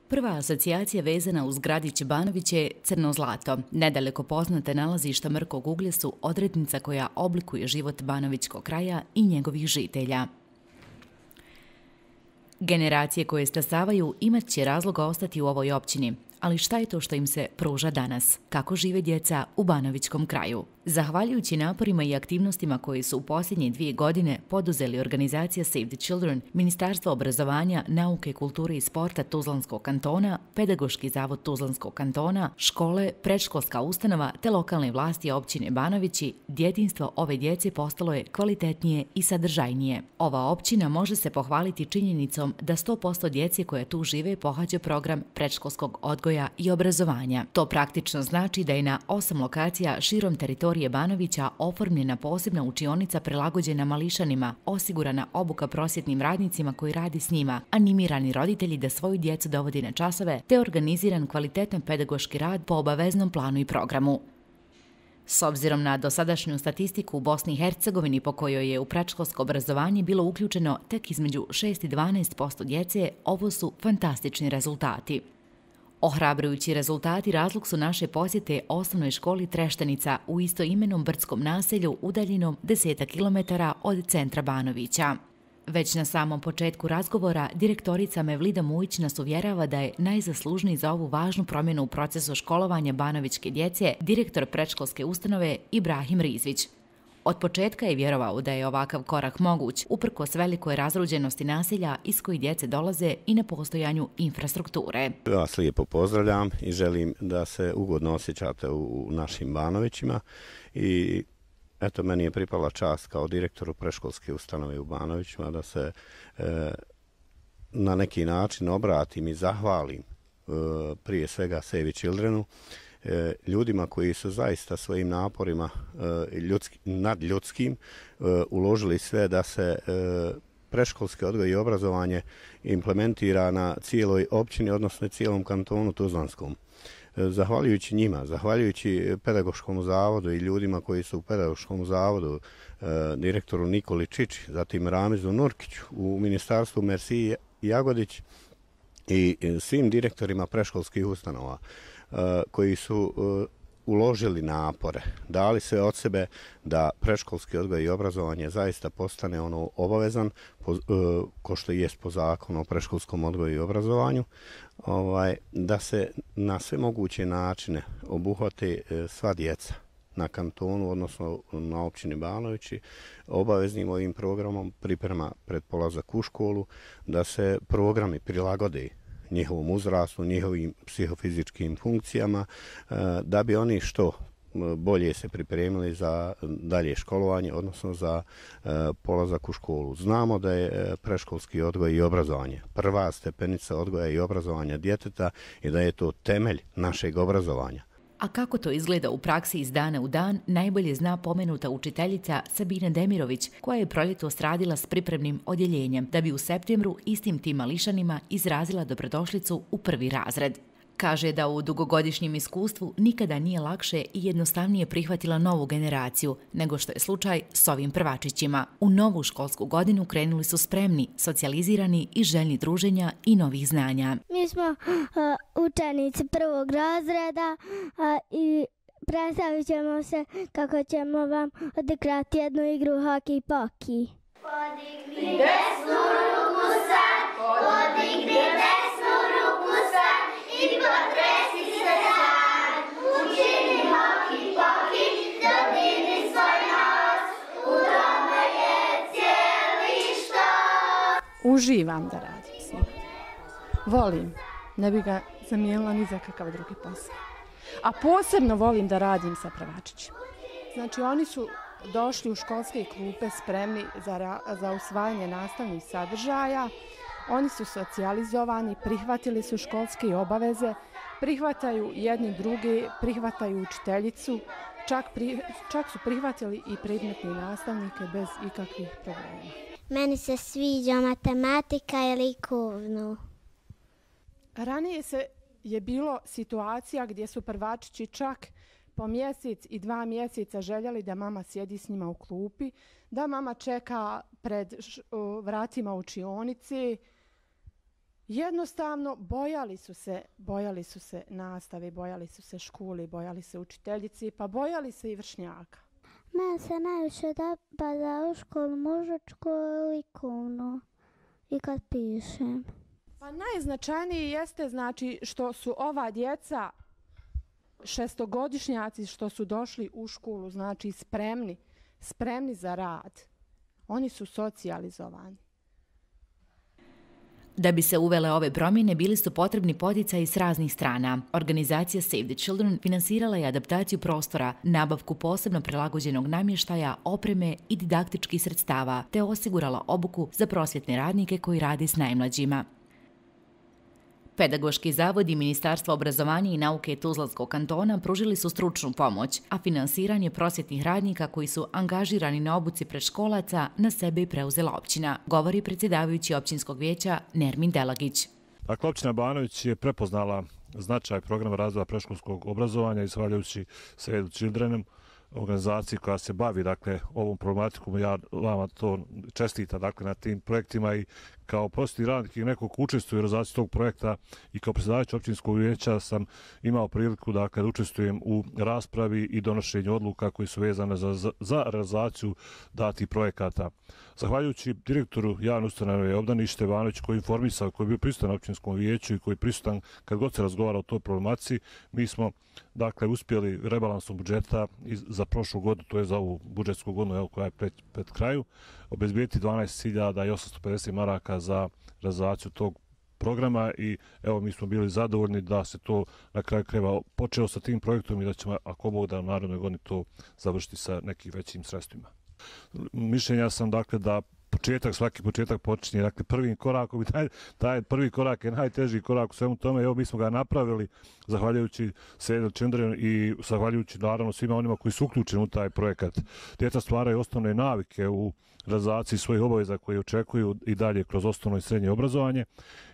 Prva asocijacija vezana uz gradić Banović je Crno zlato. Nedaleko poznate nalazišta Mrkog uglja su odrednica koja oblikuje život banovićkog kraja i njegovih žitelja. Generacije koje stasavaju imat će razloga ostati u ovoj općini. Ali šta je to što im se pruža danas? Kako žive djeca u banovićkom kraju? Zahvaljujući naporima i aktivnostima koje su u posljednje 2 godine poduzeli organizacija Save the Children, Ministarstvo obrazovanja, nauke, kulture i sporta Tuzlanskog kantona, Pedagoški zavod Tuzlanskog kantona, škole, predškolska ustanova te lokalne vlasti općine Banovići, djetinjstvo ove djece postalo je kvalitetnije i sadržajnije. Ova općina može se pohvaliti činjenicom da 100% djece koje tu žive pohađa program predškolskog odgoja i obrazovanja. To praktično znači da je na 8 lokacija širom teritorije Banovića oformljena posebna učionica prilagođena mališanima, osigurana obuka prosvjetnim radnicima koji radi s njima, animirani roditelji da svoju djecu dovodi na časove, te organiziran kvalitetan pedagoški rad po obaveznom planu i programu. S obzirom na dosadašnju statistiku u Bosni i Hercegovini po kojoj je u predškolsko obrazovanje bilo uključeno tek između 6 i 12% djece, ovo su fantastični rezultati. Ohrabrujući rezultati razlog su naše posjete osnovnoj školi Treštenica u istoimenom brdskom naselju udaljenom 10 km od centra Banovića. Već na samom početku razgovora direktorica Mevlida Mujić nas uvjerava da je najzaslužniji za ovu važnu promjenu u procesu školovanja banovićke djece direktor predškolske ustanove Ibrahim Rizvić. Od početka je vjerovao da je ovakav korak moguć, uprkos velikoj razruđenosti naselja iz kojih djece dolaze i nepostojanju infrastrukture. Ja vas lijepo pozdravljam i želim da se ugodno osjećate u našim Banovićima i eto, meni je pripala čast kao direktoru predškolske ustanove u Banovićima da se na neki način obratim i zahvalim prije svega Save the Childrenu, ljudima koji su zaista svojim naporima nadljudskim uložili sve da se predškolski odgoj i obrazovanje implementira na cijeloj općini, odnosno cijelom kantonu Tuzlanskom. Zahvaljujući njima, zahvaljujući Pedagoškom zavodu i ljudima koji su u Pedagoškom zavodu, direktoru Nikoli Čiči, zatim Ramizu Nurkiću, u ministarstvu Mersiji Jagodić i svim direktorima predškolskih ustanova koji su uložili napore, dali sve od sebe da predškolski odgoj i obrazovanje zaista postane ono obavezan, ko što jest po zakonu o predškolskom odgoju i obrazovanju, da se na sve moguće načine obuhvate sva djeca na kantonu, odnosno na općini Banovići, obaveznim ovim programom priprema pred polazak u školu, da se programi prilagode njihovom uzrastu, njihovim psihofizičkim funkcijama, da bi oni što bolje se pripremili za dalje školovanje, odnosno za polazak u školu. Znamo da je predškolski odgoj i obrazovanje prva stepenica odgoja i obrazovanja djeteta i da je to temelj našeg obrazovanja. A kako to izgleda u praksi iz dana u dan, najbolje zna pomenuta učiteljica Sabina Demirović, koja je proljetos radila s pripremnim odjeljenjem, da bi u septembru istim tim mališanima izrazila dobrodošlicu u 1. razred. Kaže da u dugogodišnjem iskustvu nikada nije lakše i jednostavnije prihvatila novu generaciju, nego što je slučaj s ovim prvačićima. U novu školsku godinu krenuli su spremni, socijalizirani i željni druženja i novih znanja. Mi smo učenici 1. razreda i predstavit ćemo se kako ćemo vam odigrati jednu igru hoki-poki. Podigni desnu ruku sad, podigni desnu ruku sad i potresi se sad. Učini hoki-poki, dodirni svoj nos, u tome je cijeli štos. Uživam da radim s njima. Volim, ne bi ga zamijenila ni za kakav drugi posao. A posebno volim da radim sa prvačićima. Znači, oni su došli u školske klupe spremni za usvajanje nastavnih sadržaja. Oni su socijalizovani, prihvatili su školske obaveze, prihvataju jedni drugi, prihvataju učiteljicu, čak su prihvatili i predmetne nastavnike bez ikakvih problema. Meni se sviđa matematika i likovno. Ranije je bilo situacija gdje su prvačići čak po mjesec i 2 mjeseca željeli da mama sjedi s njima u klupi, da mama čeka pred vratima učionice jednostavno bojali su se nastave, bojali su se škole, bojali se učiteljici, pa bojali se i vršnjaka. Mene se najviše dopada u školu muzičku i likovnu i kad pišem. Pa najznačajnije jeste znači što su ova djeca šestogodišnjaci što su došli u školu, znači spremni za rad. Oni su socijalizovani. Da bi se uvele ove promjene, bili su potrebni poticaji s raznih strana. Organizacija Save the Children finansirala je adaptaciju prostora, nabavku posebno prilagođenog namještaja, opreme i didaktičkih sredstava, te osigurala obuku za prosvjetne radnike koji rade s najmlađima. Pedagoški zavod i Ministarstvo obrazovanja i nauke Tuzlanskog kantona pružili su stručnu pomoć, a finansiranje prosvjetnih radnika koji su angažirani na obuci predškolaca na sebe je preuzela općina, govori predsjedavajući općinskog vijeća Nermin Delagić. Dakle, općina Banović je prepoznala značaj programa razvoja predškolskog obrazovanja i zahvaljujući Save the Children, organizaciji koja se bavi ovom problematikom. Ja vama to čestitam na tim projektima i kao prosvjetni radnik i neko ko učestvuje u realizaciji tog projekta i kao predsjedavajući općinskog vijeća sam imao priliku da učestvujem u raspravi i donošenju odluka koji su vezane za realizaciju datih projekata. Zahvaljujući direktoru javne ustanove Obdanište Ivanović koji je informisao, koji je bio prisutan na općinskom vijeću i koji je prisutan kad god se razgovara o toj problematici, mi smo uspjeli rebalansom budžeta za prošlu godinu, to je za ovu budžetsku godinu koja je pred kraju, obezbijeti 12.850 maraka za realizaciju tog programa i evo mi smo bili zadovoljni da se to na kraju krajeva počeo sa tim projektom i da ćemo, ako Bog da, u narednoj godini to završiti sa nekim većim sredstvima. Mišljenja sam da svaki početak počinje prvim korakom i taj prvi korak je najteži korak u svemu tome. Evo mi smo ga napravili zahvaljujući Save the Children i zahvaljujući naravno svima onima koji su uključeni u taj projekat. Djeca stvaraju osnovne navike u realizaciji svojih obaveza koje očekuju i dalje kroz osnovno i srednje obrazovanje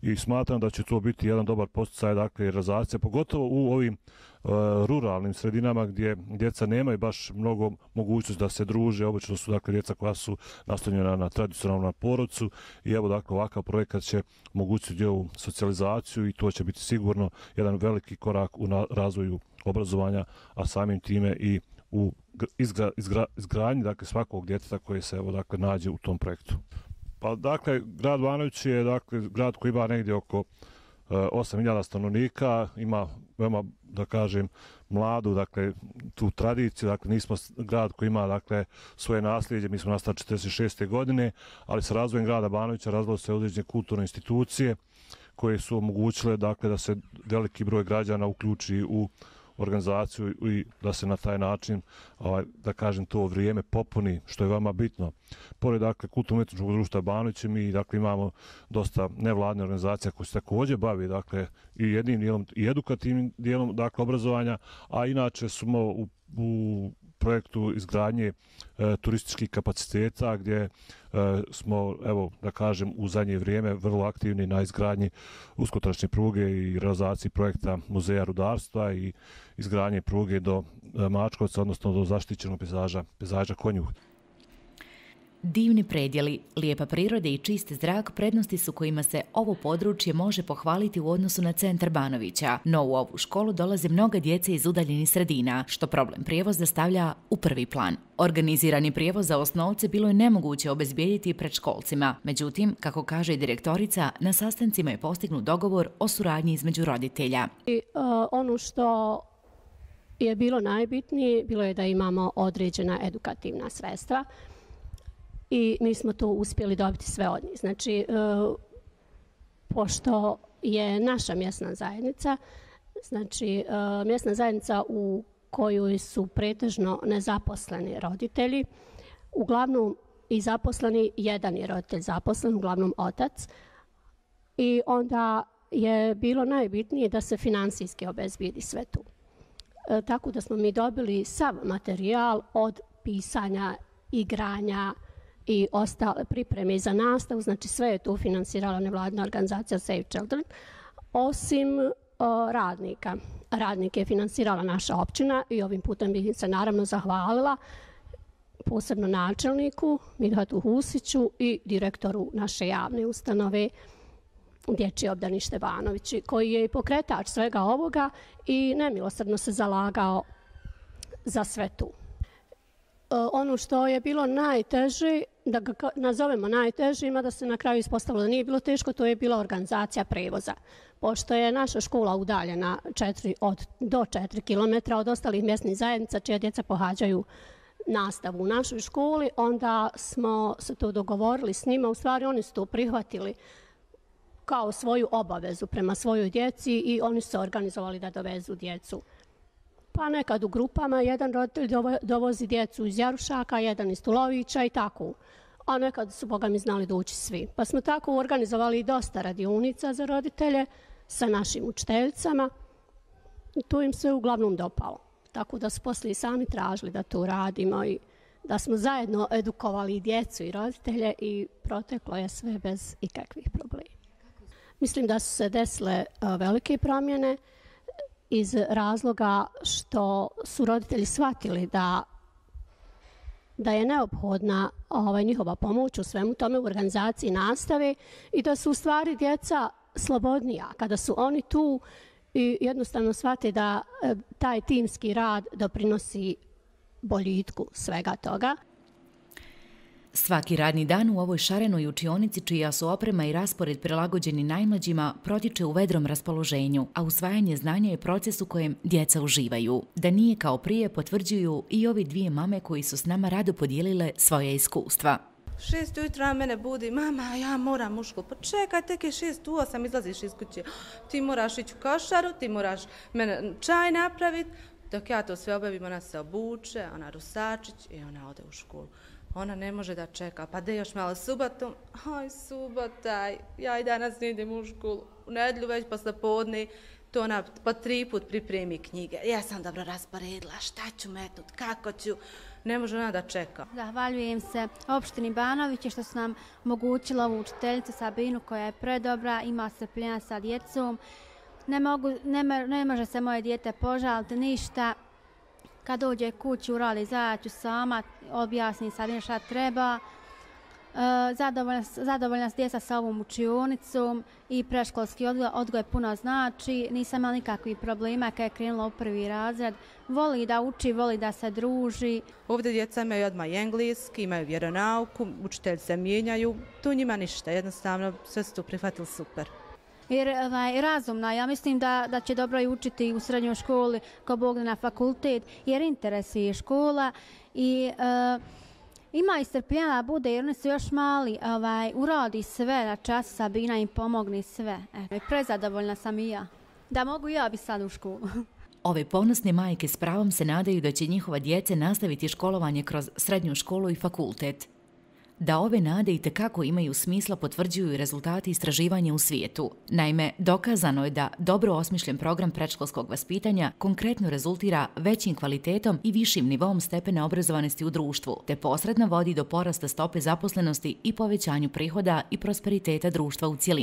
i smatram da će to biti jedan dobar podsticaj realizacija, pogotovo u ovim ruralnim sredinama gdje djeca nemaju baš mnogo mogućnosti da se druže, obično su djeca koja su naslonjena na tradicionalnom porodcu i evo ovakav projekat će omogućiti ovu socijalizaciju i to će biti sigurno jedan veliki korak u razvoju obrazovanja, a samim time i u izgradnji svakog djeteta koje se nađe u tom projektu. Pa grad Banović je grad koji ima negdje oko 8.000 stanovnika, ima veoma, mladu, tu tradiciju, nismo grad koji ima, svoje nasljeđe, mi smo nastali 1946. godine, ali sa razvojem grada Banovića razvilo se određene kulturne institucije koje su omogućile, da se veliki broj građana uključi u organizaciju i da se na taj način, to vrijeme popuni, što je veoma bitno. Pored, kulturno-umjetničkog društva Banović, mi, imamo dosta nevladne organizacija koje se također bavi, i jednim dijelom i edukativnim dijelom, obrazovanja, a inače smo u projektu izgradnje turističkih kapaciteta gdje smo, u zadnje vrijeme vrlo aktivni na izgradnji uskotračne pruge i realizaciji projekta Muzeja rudarstva i izgradnje pruge do Mačkovca, odnosno do zaštićenog pejzaža Konjuh. Divni predjeli, lijepa priroda i čist zrak prednosti su kojima se ovo područje može pohvaliti u odnosu na centar Banovića, no u ovu školu dolaze mnoga djece iz udaljenih sredina, što problem prijevoza stavlja u prvi plan. Organizirani prijevoz za osnovce bilo je nemoguće obezbijediti predškolcima, međutim, kako kaže direktorica, na sastancima je postignut dogovor o suradnji između roditelja. Ono što je bilo najbitnije, bilo je da imamo određena edukativna sredstva, i mi smo to uspjeli dobiti sve od njih. Znači, pošto je naša mjesna zajednica, znači mjesna zajednica u kojoj su pretežno nezaposleni roditelji, uglavnom i zaposleni, jedan je roditelj zaposlen, uglavnom otac, i onda je bilo najbitnije da se finansijski obezbijedi sve tu. Tako da smo mi dobili sav materijal od pisanja, igranja i ostale pripreme za nastavu, znači sve je tu finansirala nevladina organizacija Save Children, osim radnika. Radnike je finansirala naša općina i ovim putem bih se naravno zahvalila posebno načelniku Midhatu Husiću i direktoru naše javne ustanove Dječje obdanište Banovići, koji je i pokretač svega ovoga i nemilosrdno se zalagao za sve tu. Ono što je bilo najteže, da ga nazovemo najtežima, da se na kraju ispostavilo da nije bilo teško, to je bila organizacija prevoza. Pošto je naša škola udaljena do 4 km od ostalih mjesnih zajednica čija djeca pohađaju nastavu u našoj školi, onda smo se to dogovorili s njima. U stvari oni su to prihvatili kao svoju obavezu prema svojoj djeci i oni su se organizovali da dovezu djecu. Pa nekad u grupama, jedan roditelj dovozi djecu iz Jarušaka, jedan iz Tulovića i tako. A nekad su, boga mi, znali doći svi. Pa smo tako organizovali dosta radionica za roditelje sa našim učiteljicama. I to im se uglavnom dopalo. Tako da su poslije sami tražili da to radimo i da smo zajedno edukovali i djecu i roditelje i proteklo je sve bez ikakvih problema. Mislim da su se desile velike promjene iz razloga što su roditelji shvatili da je neophodna njihova pomoć u svemu tome, u organizaciji nastave i da su u stvari djeca slobodnija kada su oni tu i jednostavno shvate da taj timski rad doprinosi boljitku svega toga. Svaki radni dan u ovoj šarenoj učionici, čija su oprema i raspored prilagođeni najmlađima, protiče u vedrom raspoloženju, a usvajanje znanja je proces u kojem djeca uživaju. Da nije kao prije potvrđuju i ovi dvije mame koji su s nama rado podijelile svoje iskustva. 6 ujutro mene budi, mama, ja moram u školu. Pa čekaj, tek je 6 u 8, izlaziš iz kuće. Ti moraš ići u košaru, ti moraš mene čaj napraviti. Dok ja to sve obavim, ona se obuče, ona rusačić i ona ode u školu. Ona ne može da čeka, pa da još malo subotom, aj subota, ja i danas ne idem u školu, u nedjelju već posle podne, to ona po 3 put pripremi knjige. Ja sam dobro rasporedila, šta ću metnut, kako ću, ne može ona da čeka. Zahvaljujem se opštini Banovići što su nam omogućila ovu učiteljicu Sabinu koja je predobra, ima strpljenja sa djecom. Ne može se moje dijete požaliti ništa. Kad dođe kući, uradi zajaću sama, objasni Sabina šta treba. Zadovoljna s djeca sa ovom učionicom i predškolski odgoj puno znači. Nisam imala nikakvih problema kad je krenula u 1. razred. Voli da uči, voli da se druži. Ovdje djeca imaju odmah i engleski, imaju vjeronauku, učitelji se mijenjaju. Tu njima ništa, jednostavno sve su tu prihvatili super. Jer razumna, ja mislim da će dobro i učiti u srednjoj školi, ko Bog na fakultet, jer interesuje škola i ima i strpljenja da bude, jer oni su još mali, uradi sve na čas, Sabina im pomogne sve. Prezadovoljna sam i ja, da mogu ja bi sad u školu. Ove ponosne majke s pravom se nadaju da će njihova djeca nastaviti školovanje kroz srednju školu i fakultet. Da ove nade itekako imaju smisla potvrđuju i rezultati istraživanja u svijetu. Naime, dokazano je da dobro osmišljen program predškolskog vaspitanja konkretno rezultira većim kvalitetom i višim nivom stepena obrazovanosti u društvu, te posredno vodi do porasta stope zaposlenosti i povećanju prihoda i prosperiteta društva u cjelini.